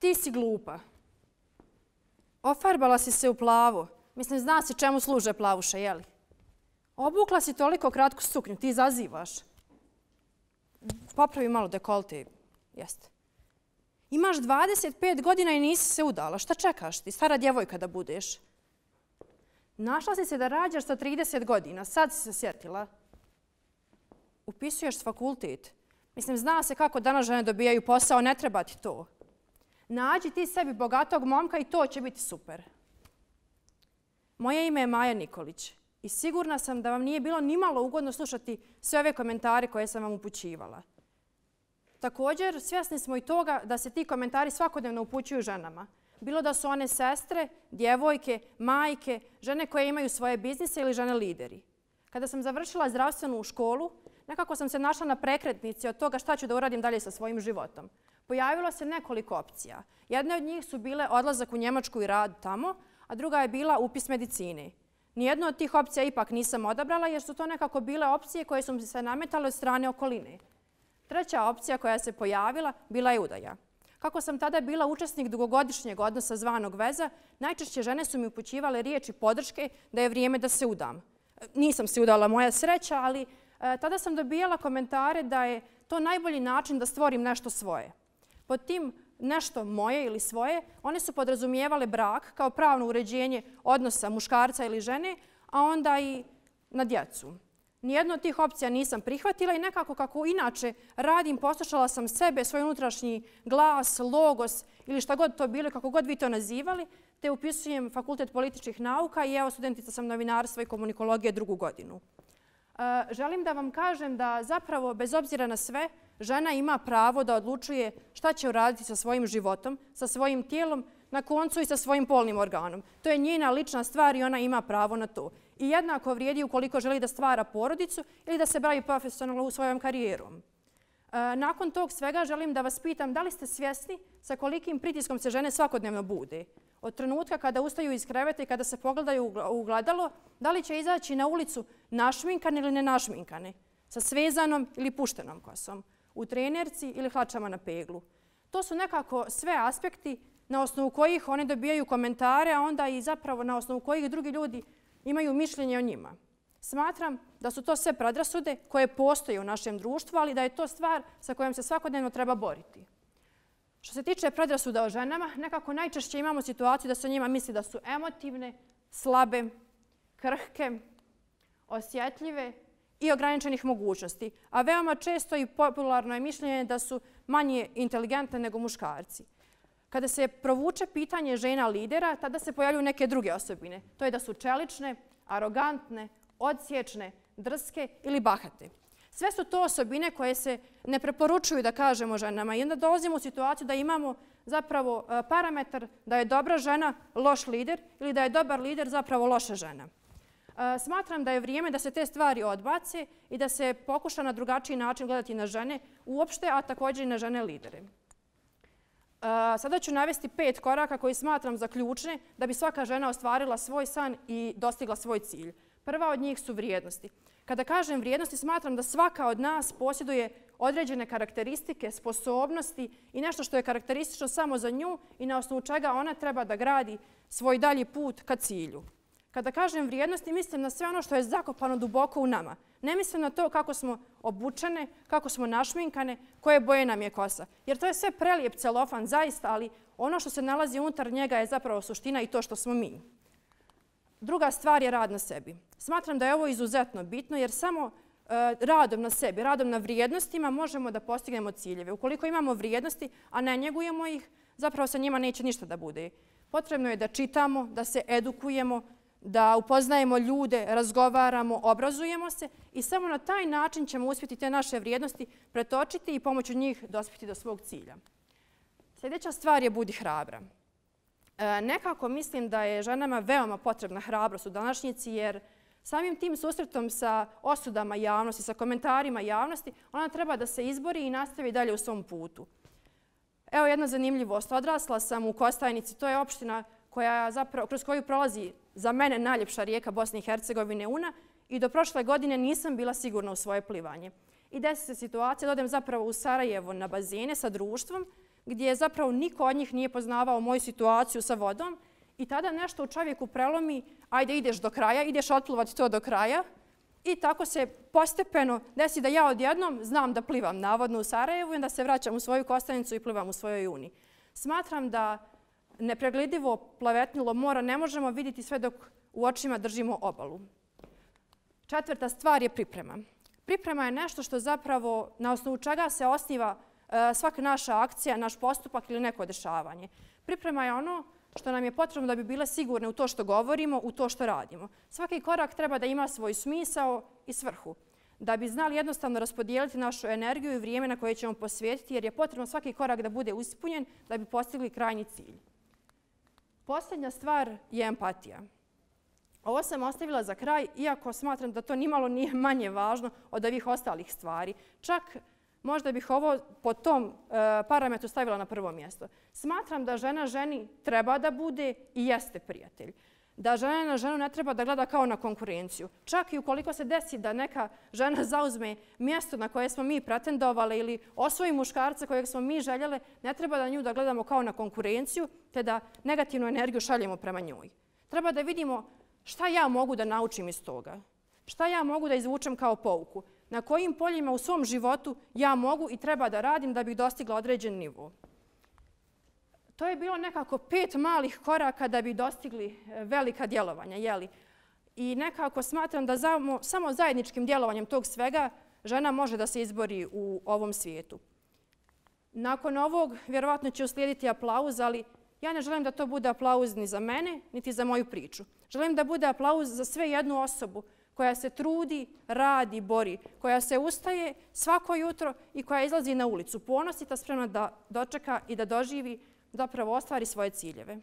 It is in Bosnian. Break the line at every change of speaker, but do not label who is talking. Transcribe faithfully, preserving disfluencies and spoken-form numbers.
ti si glupa. Ofarbala si se u plavo. Mislim, zna si čemu služe plavuše, jeli? Obukla si toliko kratku suknju, ti izazivaš. Popravi malo dekolte, jeste. Imaš dvadeset pet godina i nisi se udala. Šta čekaš ti, stara djevojka da budeš? Našla si se da rađaš sa trideset godina, sad si se sjetila. Upisuješ fakultet. Mislim, zna se kako danas žene dobijaju posao, ne treba ti to. Nađi ti sebi bogatog momka i to će biti super. Moje ime je Maja Nikolić i sigurna sam da vam nije bilo nimalo ugodno slušati sve ove komentare koje sam vam upućivala. Također, svjesni smo i toga da se ti komentari svakodnevno upućuju ženama. Bilo da su one sestre, djevojke, majke, žene koje imaju svoje biznise ili žene lideri. Kada sam završila zdravstvenu školu, nekako sam se našla na prekretnici od toga šta ću da uradim dalje sa svojim životom. Pojavilo se nekoliko opcija. Jedne od njih su bile odlazak u Njemačku i rad tamo, a druga je bila upis medicine. Nijednu od tih opcija ipak nisam odabrala jer su to nekako bile opcije koje su mi se nametale od strane okoline. Treća opcija koja se pojavila bila je udaja. Kako sam tada bila učesnik dugogodišnjeg odnosa zvanog veza, najčešće žene su mi upućivale riječi podrške da je vrijeme da se udam. Nisam se udala, moja sreća, ali e, tada sam dobijala komentare da je to najbolji način da stvorim nešto svoje. Pod tim nešto moje ili svoje, one su podrazumijevale brak kao pravno uređenje odnosa muškarca ili žene, a onda i na djecu. Nijednu od tih opcija nisam prihvatila i nekako kako inače radim, poslušala sam sebe, svoj unutrašnji glas, logos ili šta god to bilo, kako god vi to nazivali, te upisujem Fakultet političkih nauka i evo studentica sam novinarstva i komunikologije drugu godinu. Želim da vam kažem da zapravo, bez obzira na sve, žena ima pravo da odlučuje šta će uraditi sa svojim životom, sa svojim tijelom, na koncu i sa svojim polnim organom. To je njena lična stvar i ona ima pravo na to. I jednako vrijedi ukoliko želi da stvara porodicu ili da se bavi profesionalno u svojom karijerom. Nakon tog svega želim da vas pitam da li ste svjesni sa kolikim pritiskom se žene svakodnevno bude. Od trenutka kada ustaju iz kreveta i kada se pogledaju u gledalo, da li će izaći na ulicu našminkane ili nenašminkane, sa svezanom ili puštenom kosom, u trenerci ili hlačama na peglu. To su nekako sve aspekti na osnovu kojih one dobijaju komentare, a onda i zapravo na osnovu kojih drugi ljudi imaju mišljenje o njima. Smatram da su to sve predrasude koje postoje u našem društvu, ali da je to stvar sa kojom se svakodnevno treba boriti. Što se tiče predrasuda o ženama, nekako najčešće imamo situaciju da se o njima misli da su emotivne, slabe, krhke, osjetljive i ograničenih mogućnosti, a veoma često i popularno je mišljenje da su manje inteligentne nego muškarci. Kada se provuče pitanje žena lidera, tada se pojavljuju neke druge osobine. To je da su čelične, arogantne, odsječne, drske ili bahate. Sve su to osobine koje se ne preporučuju da kažemo ženama i onda dolazimo u situaciju da imamo zapravo parametar da je dobra žena loš lider ili da je dobar lider zapravo loša žena. Smatram da je vrijeme da se te stvari odbace i da se pokuša na drugačiji način gledati na žene uopšte, a također i na žene lidere. Sada ću navesti pet koraka koji smatram za ključne da bi svaka žena ostvarila svoj san i dostigla svoj cilj. Prva od njih su vrijednosti. Kada kažem vrijednosti, smatram da svaka od nas posjeduje određene karakteristike, sposobnosti i nešto što je karakteristično samo za nju i na osnovu čega ona treba da gradi svoj dalji put ka cilju. Kada kažem vrijednosti, mislim na sve ono što je zakopano duboko u nama. Ne mislim na to kako smo obučene, kako smo našminkane, koje boje nam je kosa. Jer to je sve prelijep celofan, zaista, ali ono što se nalazi unutar njega je zapravo suština i to što smo mi. Druga stvar je rad na sebi. Smatram da je ovo izuzetno bitno jer samo radom na sebi, radom na vrijednostima možemo da postignemo ciljeve. Ukoliko imamo vrijednosti, a ne njegujemo ih, zapravo sa njima neće ništa da bude. Potrebno je da čitamo, da se edukujemo, da upoznajemo ljude, razgovaramo, obrazujemo se i samo na taj način ćemo uspjeti te naše vrijednosti pretočiti i pomoću njih dospjeti do svog cilja. Sljedeća stvar je budi hrabra. Nekako mislim da je ženama veoma potrebna hrabrost u današnjici jer samim tim susretom sa osudama javnosti, sa komentarima javnosti, ona treba da se izbori i nastavi dalje u svom putu. Evo jedna zanimljivost. Odrasla sam u Kostajnici, to je opština koja zapravo, kroz koju prolazi za mene najljepša rijeka Bosne i Hercegovine Una i do prošle godine nisam bila sigurna u svoje plivanje. I desi se situacija da odem zapravo u Sarajevo na bazene sa društvom gdje zapravo niko od njih nije poznavao moju situaciju sa vodom i tada nešto u čovjeku prelomi, ajde ideš do kraja, ideš otpluvati to do kraja i tako se postepeno desi da ja odjednom znam da plivam navodno u Sarajevu i da se vraćam u svoju Kostajnicu i plivam u svojoj Uni. Smatram da nepregledljivo plavetnilo mora ne možemo vidjeti sve dok u očima držimo obalu. Četvrta stvar je priprema. Priprema je nešto što zapravo na osnovu čega se osniva svaka naša akcija, naš postupak ili neko dešavanje. Priprema je ono što nam je potrebno da bi bile sigurne u to što govorimo, u to što radimo. Svaki korak treba da ima svoj smisao i svrhu, da bi znali jednostavno raspodijeliti našu energiju i vrijeme na koje ćemo posvetiti, jer je potrebno svaki korak da bude ispunjen da bi postigli krajnji cilj. Posljednja stvar je empatija. Ovo sam ostavila za kraj, iako smatram da to nimalo nije manje važno od ovih ostalih stvari. Čak možda bih ovo po tom parametru stavila na prvo mjesto. Smatram da žena ženi treba da bude i jeste prijatelj. Da žena na ženu ne treba da gleda kao na konkurenciju. Čak i ukoliko se desi da neka žena zauzme mjesto na koje smo mi pretendovali ili osvoji muškarca kojeg smo mi željele, ne treba da nju da gledamo kao na konkurenciju, te da negativnu energiju šaljemo prema njoj. Treba da vidimo šta ja mogu da naučim iz toga. Šta ja mogu da izvučem kao pouku. Na kojim poljima u svom životu ja mogu i treba da radim da bih dostigla određen nivo. To je bilo nekako pet malih koraka da bi dostigli velika djelovanja. Jeli? I nekako smatram da samo zajedničkim djelovanjem tog svega žena može da se izbori u ovom svijetu. Nakon ovog vjerovatno će uslijediti aplauz, ali ja ne želim da to bude aplauz ni za mene, niti za moju priču. Želim da bude aplauz za sve jednu osobu koja se trudi, radi, bori, koja se ustaje svako jutro i koja izlazi na ulicu, ponosita, spremna da dočeka i da doživi, zapravo ostvari svoje ciljeve.